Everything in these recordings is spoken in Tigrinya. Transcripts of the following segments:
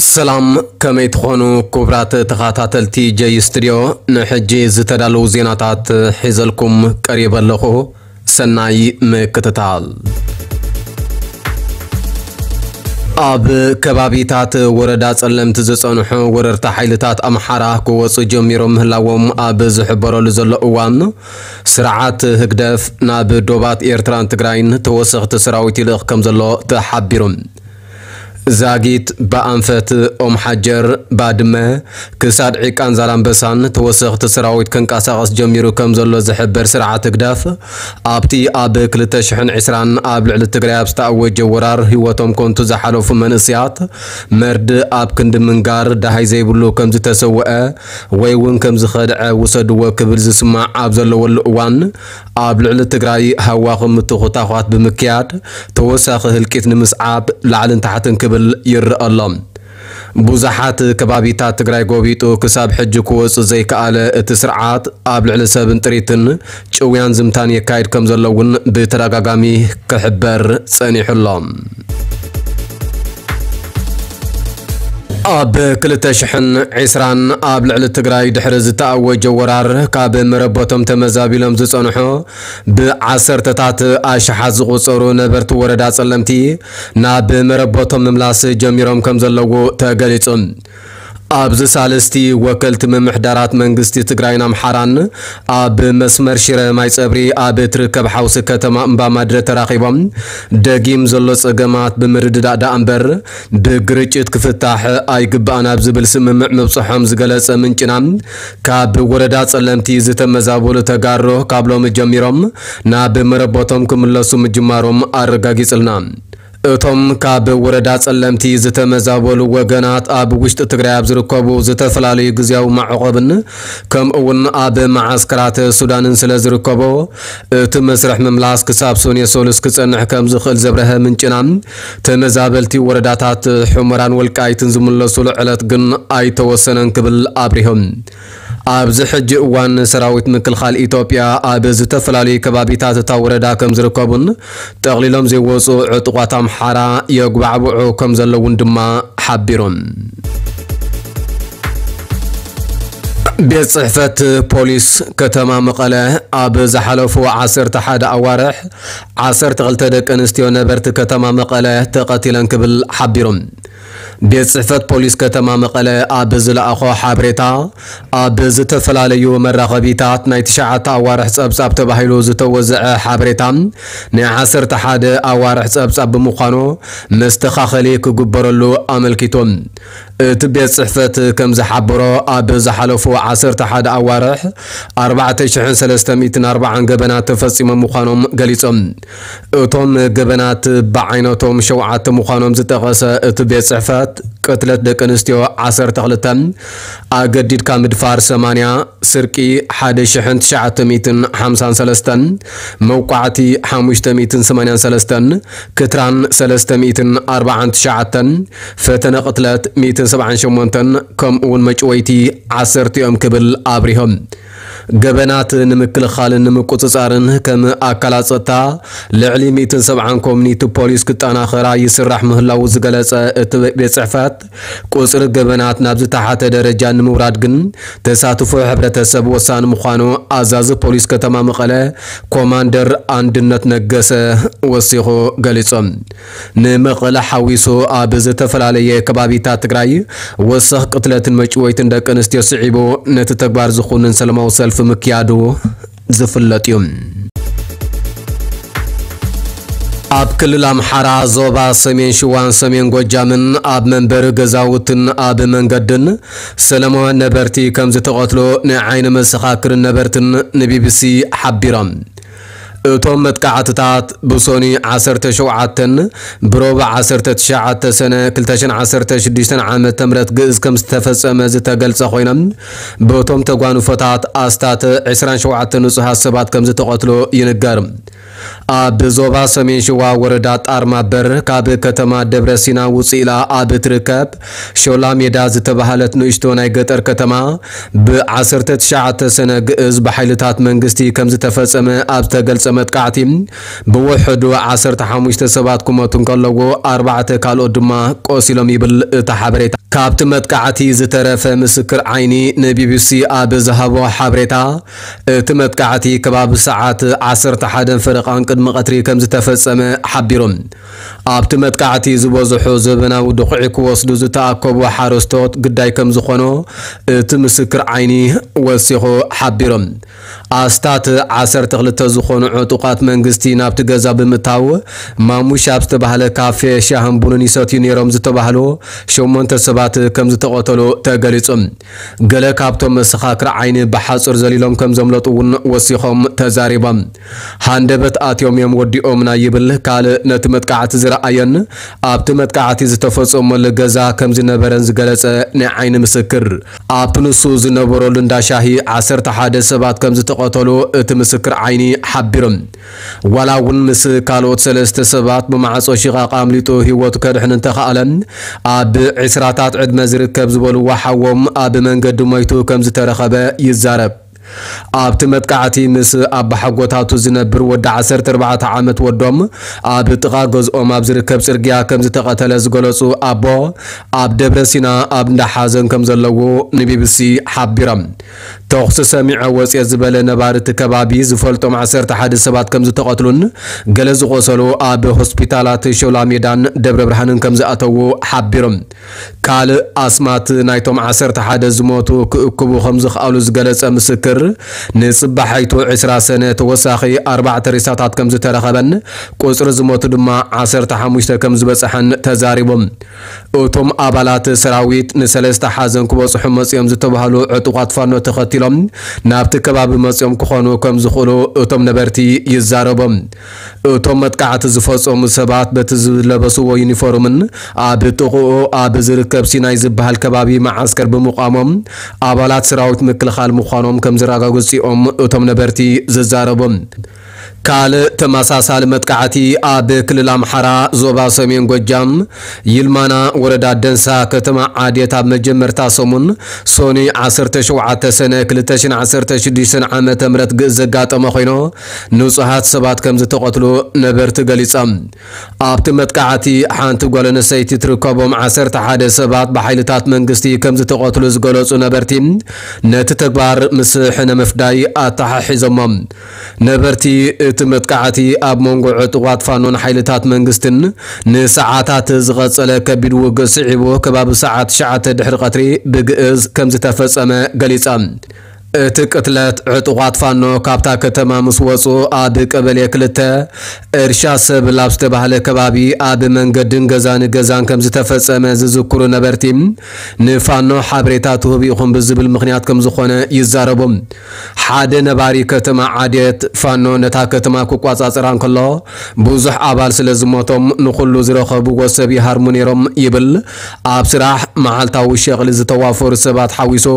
ሰላም፣ ከመይ ትኾኑ ክቡራት ተኸታተልቲ ጀይ ስቱድዮ? ንሕጂ ዝተዳለዉ ዜናታት ሒዘልኩም ቀሪበ ኣለኹ። ሰናይ ምክትታል። ኣብ ከባቢታት ወረዳ ጸለምቲ ዝጸንሑ ወረርቲ ሓይልታት ኣምሓራ ክወጹ ጀሚሮም ምህላዎም ኣብ ዝሕበረሉ ዘሎ እዋን፣ ስርዓት ህግደፍ ናብ ዶባት ኤርትራን ትግራይን ተወሰኽቲ ሰራዊት ይልእኽ ከም ዘሎ ተሓቢሩ። ዛጊት፣ ብኣንፈት፣ ኦም ሓጀር፣ ባድመ፣ ክሳድ ዒቃን ዛላምበሳን ተወሰኽቲ ሰራዊት ከንቀሳቐስ ጀሚሩ ከም ዘሎ ዝሕበር ስርዓት ህግደፍ፣ ኣብቲ ኣብ ክልተ ሽሕን ዕስራን ኣብ ልዕሊ ትግራይ ኣብ ዝተኣወጀ ወራር ህይወቶም ከንቱ ዝሓለፉ መንእሰያት መርድእ ኣብ ክንዲ ምንጋር ደሃይ ዘይብሉ ከም ዝተሰውአ ወይ እውን ከም ዝኸድዐ ውሰድዎ ክብል ዝስማዕ ኣብ ዘለወሉ እዋን፣ ኣብ ልዕሊ ትግራይ ሃዋኽን ምትኹታዃት ብምክያድ ተወሳኺ ህልቂት ንምስዓብ ላዕልን ታሕትን ክብል ይረአ ኣሎ። ብዙሓት ከባቢታት ትግራይ ጎቢጡ ክሳብ ሕጂ ክወጽእ ዘይከኣለ እቲ ስርዓት፣ ኣብ ልዕሊ ሰብን ጥሪትን ጭውያን ዝምታን የካይድ ከም ዘሎ እውን ብተደጋጋሚ ክሕበር ጸኒሑ ኣሎ። ኣብ ክልተ ሽሕን ዕስራን ኣብ ልዕሊ ትግራይ ድሕሪ ዝተኣወጀ ወራር፣ ካብ መረበቶም ተመዛቢሎም ዝጸንሑ ብዓሰርተታት ኣሽሓት ዝቑጸሩ ነበርቲ ወረዳ ጸለምቲ ናብ መረበቶም ምምላስ ጀሚሮም ከም ዘለዉ ተገሊጹ። ኣብዚ ሳልስቲ፣ ወከልቲ ምምሕዳራት መንግስቲ ትግራይን ኣምሓራን ኣብ መስመር ሽረ ማይ ጸብሪ ኣብ እትርከብ ሓውሲ ከተማ እምባማድረ ተራኺቦም፣ ደጊም ዘሎ ጸገማት ብምርድዳእ ደኣ እምበር ብግርጭት ክፍታሕ ኣይግባእን ኣብ ዝብል ስምምዕ ምብጽሖም ዝገለጸ ምንጭና፣ ካብ ወረዳ ጸለምቲ ዝተመዛበሉ ተጋሩ ካብ ሎሚ ጀሚሮም ናብ መረበቶም ክምለሱ ምጅማሮም ኣረጋጊጽልና። እቶም ካብ ወረዳ ጸለምቲ ዝተመዛበሉ ወገናት፣ ኣብ ውሽጢ ትግራይ ኣብ ዝርከቡ ዝተፈላለዩ ግዝያዊ መዕቆብን ከምኡ እውን ኣብ መዓስከራት ሱዳንን ስለ ዝርከቡ፣ እቲ መስርሕ ምምላስ ክሳብ ሰኑየ ሰሉስ ክጸንሕ ከም ዝኽእል ዘብረሀ ምንጭና፣ ተመዛበልቲ ወረዳታት ሑመራን ወልቃይትን ዝምለሱሉ ዕለት ግን ኣይተወሰነን ክብል ኣብሪሆም። ኣብዚ ሕጂ እዋን ሰራዊት ምክልኻል ኢትዮጵያ ኣብ ዝተፈላለዩ ከባቢታት እታ ወረዳ ከም ዝርከቡን፣ ጠቕሊሎም ዘይወፁ ዕጡቋት ኣምሓራ የጉባዕብዑ ከም ዘለውን ድማ ሓቢሮም። ቤት ጽሕፈት ፖሊስ ከተማ መቐለ ኣብ ዝሓለፉ ዓሰርተ ሓደ ኣዋርሕ ዓሰርተ ክልተ ደቂ ኣንስትዮ ነበርቲ ከተማ መቐለ ተቐቲለን ክብል ሓቢሮም። ቤት ጽሕፈት ፖሊስ ከተማ መቐለ ኣብ ዝለኣኾ ሓበሬታ፣ ኣብ ዝተፈላለዩ መራኸቢታት ናይ ትሽዓተ ኣዋርሕ ጸብጻብ ተባሂሉ ዝተወዘዐ ሓበሬታ ናይ ዓሰርተ ሓደ ኣዋርሕ ጸብጻብ ብምዃኑ መስተኻኸሊ ክግበረሉ ኣመልኪቱ። እቲ ቤት ጽሕፈት ከም ዝሓበሮ፣ ኣብ ዝሓለፉ ዓሰርተ ሓደ ኣዋርሕ ኣርባዕተ ሽሕን ሰለስተ ሚእትን ኣርባዓን ገበናት ተፈጺሞም ምዃኖም ገሊጾም። እቶም ገበናት ብዓይነቶም ሸውዓተ ምዃኖም ዝጠቐሰ እቲ ቤት ጽሕፈት፣ ቅትለት ደቂ ኣንስትዮ ዓሰርተ ክልተ፣ ኣገዲድካ ምድፋር ሰማንያ፣ ስርቂ ሓደ ሽሕን ትሽዓተ ሚእትን ሓምሳን ሰለስተን፣ መውቃዕቲ ሓሙሽተ ሚእትን ሰማንያን ሰለስተን፣ ክትራን ሰለስተ ሚእትን ኣርባዓን ትሽዓተን፣ ፈተነ ቅትለት ሚእትን ሰብዓን ሸሞንተን፣ ከምኡ እውን መጭወይቲ ዓሰርተ እዮም ክብል ኣብሪሆም። ገበናት ንምክልኻልን ንምቁጽጻርን ከም ኣካላት ጸጥታ ልዕሊ ሚእትን ሰብዓን ኮሚኒቲ ፖሊስ ክጠናኸራ ይስራሕ ምህላዉ ዝገለጸ እቲ ቤት ጽሕፈት፣ ቁጽሪ ገበናት ናብ ዝተሓተ ደረጃ ንምውራድ ግን ተሳትፎ ሕብረተሰብ ወሳኒ ምዃኑ ኣዛዚ ፖሊስ ከተማ መቐለ ኮማንደር ኣንድነት ነገሰ ወሲኹ ገሊጾም። ንመቐለ ሓዊሱ ኣብ ዝተፈላለየ ከባቢታት ትግራይ ወሰኽ ቅትለትን መጭወይትን ደቂ ኣንስትዮ ስዒቡ ነቲ ተግባር ዝኹንን ሰላማዊ ሰልፊ ምክያዱ ዝፍለጥ እዩ። ኣብ ክልል ኣምሓራ ዞባ ሰሜን ሽዋን ሰሜን ጎጃምን ኣብ መንበሪ ገዛውትን ኣብ መንገድን ሰላማውያን ነበርቲ ከም ዝተቐትሉ ናይ ዓይኒ መሰኻክርን ነበርትን ንቢቢሲ ሓቢሮም። እቶም መጥቃዕትታት ብሶኒ ዓሰርተ ሸውዓተን ብሮብ ዓሰርተ ትሽዓተ ሰነ ክልተ ሽሕን ዓሰርተ ሽዱሽተን ዓመተ ምህረት ግእዝ ከም ዝተፈጸመ ዝተገልጸ ኮይኖም፣ በቶም ተጓንፎታት ኣስታት ዕስራን ሸውዓተን ንጹሃት ሰባት ከም ዝተቐትሉ ይንገር። ኣብ ዞባ ሰሜን ሸዋ ወረዳ ጣርማበር ካብ ከተማ ደብረ ሲና ውፅእ ኢላ ኣብ ትርከብ ሾላ ሜዳ ዝተባህለት ንእሽቶ ናይ ገጠር ከተማ ብ19 ሰነ ግእዝ ብሓይልታት መንግስቲ ከም ዝተፈጸመ ኣብ ዝተገልጸ መጥቃዕቲ ብውሕዱ 15 ሰባት ክሞቱ እንከለዎ ኣርባዕተ ካልኦት ድማ ቆሲሎም ይብል እቲ ሓበሬታ። ካብቲ መጥቃዕቲ ዝተረፈ ምስክር ዓይኒ ንቢቢሲ ኣብ ዝሃቦ ሓበሬታ፣ እቲ መጥቃዕቲ ከባቢ ሰዓት 11 ፈረቓን ቅድሚ ቀትሪ ከም ዝተፈጸመ ሓቢሩ። ኣብቲ መጥቃዕቲ ዝበዝሑ ዘበናዊ ድኹዒ ክወስዱ ዝተኣከቡ ሓረስቶት ግዳይ ከም ዝኾኖ እቲ ምስክር ዓይኒ ወሲኹ ሓቢሩ። ኣስታት 12 ዝኾኑ ዕጡቓት መንግስቲ ናብቲ ገዛ ብምእታው ማሙሽ ኣብ ዝተባህለ ካፌ ሻህን ቡንን ይሰትዩ ነይሮም ዝተባህሉ ሸሞንተ ሰባት ከም ዝተቐተሉ ተገሊጹ። ገለ ካብቶም መሰኻክር ዓይኒ ብሓጹር ዘሊሎም ከም ዘምለጡ እውን ወሲኾም ተዛሪቦም። ሃንደበት ኣትዮም እዮም ወዲኦምና ይብል ካልእ ነቲ መጥቃዕቲ ዝረኣየን ኣብቲ መጥቃዕቲ ዝተፈጸመሉ ገዛ ከም ዝነበረን ዝገለጸ ናይ ዓይኒ ምስክር። ኣብቲ ንሱ ዝነበረሉ እንዳ ሻሂ 11 ሰባት ከም ዝተቐተሉ እቲ ምስክር ዓይኒ ሓቢሩ። ዋላ እውን ምስ ካልኦት ሰለስተ ሰባት ብማዕጾ ሽቓቕ ኣምሊጡ ህይወቱ ከድሕን እንተኸኣለ፣ ኣብ ዕስራታት ዕድመ ዝርከብ ዝበልዎ ሓዎም ኣብ መንገዲ ሞይቱ ከም ዝተረኸበ ይዛረብ። ኣብቲ መጥቃዕቲ ምስ ኣባሓጎታቱ ዝነብር ወዲ 14 ዓመት ወዶም ኣብ ጥቓ ገዝኦም ኣብ ዝርከብ ጽርግያ ከም ዝተቐተለ ዝገለጹ ኣቦ፣ ኣብ ደብረ ሲና ኣብ እንዳ ሓዘን ከም ዘለዉ ንቢቢሲ ሓቢሮም። ተኹሲ ሰሚዐ ወፅየ ዝበለ ነባሪ እቲ ከባቢ ዝፈልጦም 11 ሰባት ከም ዝተቐትሉን ገለ ዝቆሰሉ ኣብ ሆስፒታላት ሾላ ሜዳን ደብረ ብርሃንን ከም ዝኣተዉ ሓቢሮም። ካልእ ኣስማት ናይቶም 11 ዝሞቱ ክእክቡ ከም ዝኽኣሉ ዝገለጸ ምስክር፣ ንጽባሓይቱ 20 ሰነ ተወሳኺ ኣርባዕተ ሬሳታት ከም ዝተረኸበን ቁጽሪ ዝሞቱ ድማ 15 ከም ዝበጽሐን ተዛሪቦም። እቶም ኣባላት ሰራዊት ንሰለስተ ሓዘን ክበጽሑ መጽዮም ዝተባህሉ ዕጡቓት ፋኖ ተኸቲሎም ናብቲ ከባቢ መጽዮም ክኾኑ ከም ዝኽእሉ እቶም ነበርቲ ይዛረቡ። እቶም መጥቃዕቲ ዝፈጸሙ ሰባት በቲ ዝለበስዎ ዩኒፎርምን ኣብ ጥቕኡ ኣብ ዝርከብ ሲናይ ዝበሃል ከባቢ መዓስከር ብምቋሞም ኣባላት ሰራዊት ምክልኻል ምዃኖም ከም ዝረጋገጹ እዮም እቶም ነበርቲ ዝዛረቡ። ካልእ ተመሳሳሊ መጥቃዕቲ ኣብ ክልል ኣምሓራ ዞባ ሰሜን ጎጃም ይልማና ወረዳ ደንሳ ከተማ ዓዴት ኣብ መጀመርታ ሰሙን ሶኒ 17 ሰነ 2016 ዓመተ ምህረት ግእዝ ዘጋጠመ ኮይኑ ንጹሃት ሰባት ከም ዝተቐትሉ ነበርቲ ገሊጾም። ኣብቲ መጥቃዕቲ ሓንቲ ጓል ኣንስተይቲ ትርከቦም 11 ሰባት ብሓይልታት መንግስቲ ከም ዝተቐትሉ ዝገለጹ ነበርቲ ነቲ ተግባር ምስ ሕነ ምፍዳይ ኣተሓሒዞሞ። ነበርቲ እቲ መጥቃዕቲ ኣብ መንጎ ዕጡቓት ፋኖን ሓይልታት መንግስትን ንሰዓታት ዝቐጸለ ከቢድ ውግእ ስዒቡ ከባቢ ሰዓት ትሽዓተ ድሕሪ ቀትሪ ብግእዝ ከም ዝተፈጸመ ገሊጻ። እቲ ቅትለት ዕጡቓት ፋኖ ካብታ ከተማ ምስ ወጹ ኣብ ቀበሌ ክልተ እርሻ ሰብል ኣብ ዝተባህለ ከባቢ ኣብ መንገድን ገዛ ንገዛን ከም ዝተፈጸመ ዝዝክሩ ነበርቲ ንፋኖ ሓበሬታ ትህቡ ኢኹም ብዝብል ምኽንያት ከም ዝኾነ ይዛረቡ። ሓደ ነባሪ ከተማ ዓዴት ፋኖ ነታ ከተማ ክቋጻጸራ እንከሎ ብዙሕ ኣባል ስለ ዝሞቶም ንኹሉ ዝረኸብዎ ሰብ ይሃርሙ ነይሮም ይብል። ኣብ ስራሕ መዓልታዊ ሸቕሊ ዝተዋፈሩ ሰባት ሓዊሱ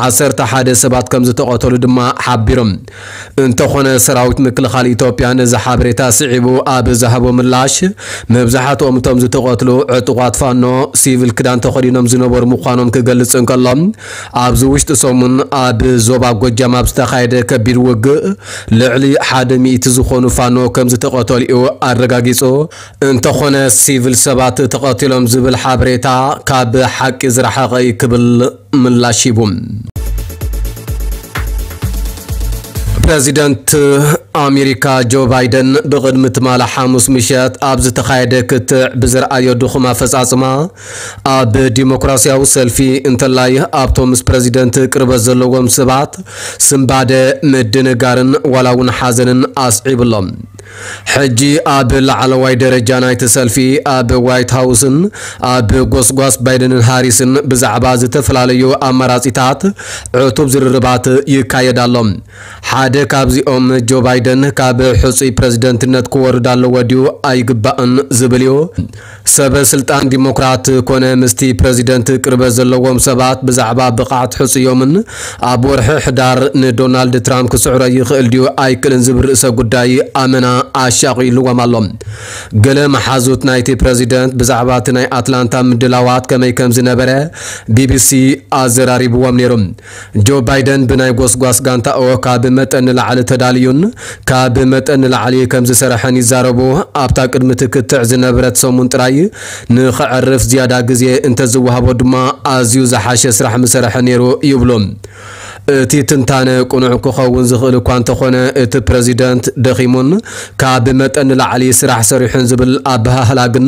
11 ሰባት ከም ዝተቐተሉ ድማ ሓቢሮም። እንተኾነ ሰራዊት ምክልኻል ኢትዮጵያ ነዚ ሓበሬታ ስዒቡ ኣብ ዝሃቦ ምላሽ መብዛሕትኦም እቶም ዝተቐትሉ ዕጡቓት ፋኖ ሲቪል ክዳን ተኸዲኖም ዝነበሩ ምዃኖም ክገልጽ እንከሎ ኣብዚ ውሽጢ ሰሙን ኣብ ዞባ ጎጃም ኣብ ዝተኻየደ ከቢድ ውግእ ልዕሊ ሓደ ሚእቲ ዝኾኑ ፋኖ ከም ዝተቐተሉ እዩ ኣረጋጊጹ። እንተኾነ ሲቪል ሰባት ተቐቲሎም ዝብል ሓበሬታ ካብ ሓቂ ዝረሓቐ እዩ ክብል ምላሽ ሂቡ። ፕረዚደንት ኣሜሪካ ጆ ባይደን ብቕድሚ ትማሊ ሓሙስ ምሸት ኣብ ዝተኻየደ ክትዕ ብዝረኣዮ ድኹም ኣፈጻጽማ ኣብ ዲሞክራሲያዊ ሰልፊ እንተላይ ኣብቶም ምስ ፕረዚደንት ቅርበት ዘለዎም ሰባት ስንባደ ምድንጋርን ዋላ እውን ሓዘንን ኣስዒብሎም። ሕጂ ኣብ ላዕለዋይ ደረጃ ናይቲ ሰልፊ ኣብ ዋይት ሃውስን ኣብ ጎስጓስ ባይደንን ሃሪስን ብዛዕባ ዝተፈላለዩ ኣማራጺታት ዕቱብ ዝርርባት ይካየድ ኣሎ። ሓደ ካብዚኦም ጆ ባይደን ካብ ሕጹይ ፕረዚደንትነት ክወርድ ኣለዎ ድዩ ኣይግባእን ዝብል እዩ። ሰበ ስልጣን ዲሞክራት ኮነ ምስቲ ፕረዚደንት ቅርበት ዘለዎም ሰባት ብዛዕባ ብቕዓት ሕጹዮምን ኣብ ወርሒ ሕዳር ንዶናልድ ትራምፕ ክስዕሮ ይኽእል ድዩ ኣይክእልን ዝብል ርእሰ ጉዳይ ኣመና ኣሻቒልዎም ኣሎ። ገለ መሓዙት ናይቲ ፕረዚደንት ብዛዕባ እቲ ናይ ኣትላንታ ምድላዋት ከመይ ከም ዝነበረ ቢቢሲ ኣዘራሪብዎም ነይሩ። ጆ ባይደን ብናይ ጎስጓስ ጋንታኦ ካብ መጠን ንላዕሊ ተዳልዩን ካብ መጠን ንላዕሊ ከም ዝሰረሐን ይዛረቡ። ኣብታ ቅድሚ ትክትዕ ዝነበረት ሰሙን ጥራይ ንኸዕርፍ ዝያዳ ግዜ እንተዝወሃቦ ድማ ኣዝዩ ዝሓሸ ስራሕ ምሰረሐ ነይሩ ይብሉ። እቲ ትንታነ ቅኑዕ ክኸውን ዝኽእል እኳ እንተኾነ፣ እቲ ፕረዚደንት ደኺሙን ካብ መጠን ንላዕሊ ስራሕ ሰሪሑን ዝብል ኣበሃህላ ግን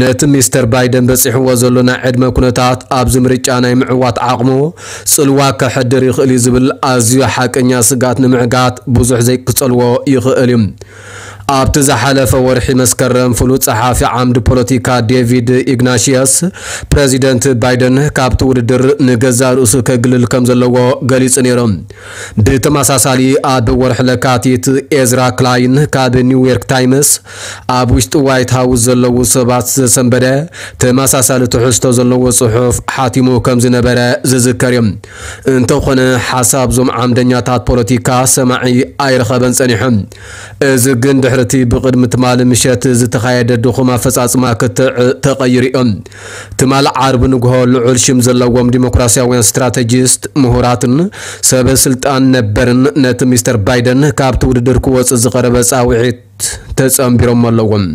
ነቲ ሚስተር ባይደን በጺሕዎ ዘሎ ናይ ዕድመ ኩነታት ኣብዚ ምርጫ ናይ ምዕዋት ዓቕሙ ጽልዋ ከሕድር ይኽእል እዩ ዝብል ኣዝዩ ሓቀኛ ስግኣት ንምዕጋት ብዙሕ ዘይክጸልዎ ይኽእል እዩ። ኣብቲ ዝሓለፈ ወርሒ መስከረም ፍሉጥ ጸሓፊ ዓምዲ ፖለቲካ ዴቪድ ኢግናሽየስ ፕረዚደንት ባይደን ካብቲ ውድድር ንገዛእ ርእሱ ከግልል ከም ዘለዎ ገሊጹ ነይሩ። ብተመሳሳሊ ኣብ ወርሒ ለካቲት ኤዝራ ክላይን ካብ ኒውዮርክ ታይምስ ኣብ ውሽጢ ዋይት ሃውስ ዘለዉ ሰባት ዘሰንበደ ተመሳሳሊ ትሕዝቶ ዘለዎ ጽሑፍ ሓቲሙ ከም ዝነበረ ዝዝከር እዩ። እንተኾነ ሓሳብ ዞም ዓምደኛታት ፖለቲካ ሰማዒ ኣይረኸበን ጸኒሑ። እዚ ግን ድሕሪ እቲ ብቕድሚ ትማሊ ምሸት ዝተኻየደ ድኹም ኣፈጻጽማ ክትዕ ተቐይሩ እዩ። ትማሊ ዓርቢ ንግሆ ልዑል ሽም ዘለዎም ዲሞክራሲያውያን ስትራተጂስት፣ ምሁራትን ሰበ ስልጣን ነበርን ነቲ ሚስተር ባይደን ካብቲ ውድድር ክወጽእ ዝቐረበ ጻውዒት ተጸንቢሮም ኣለዎም።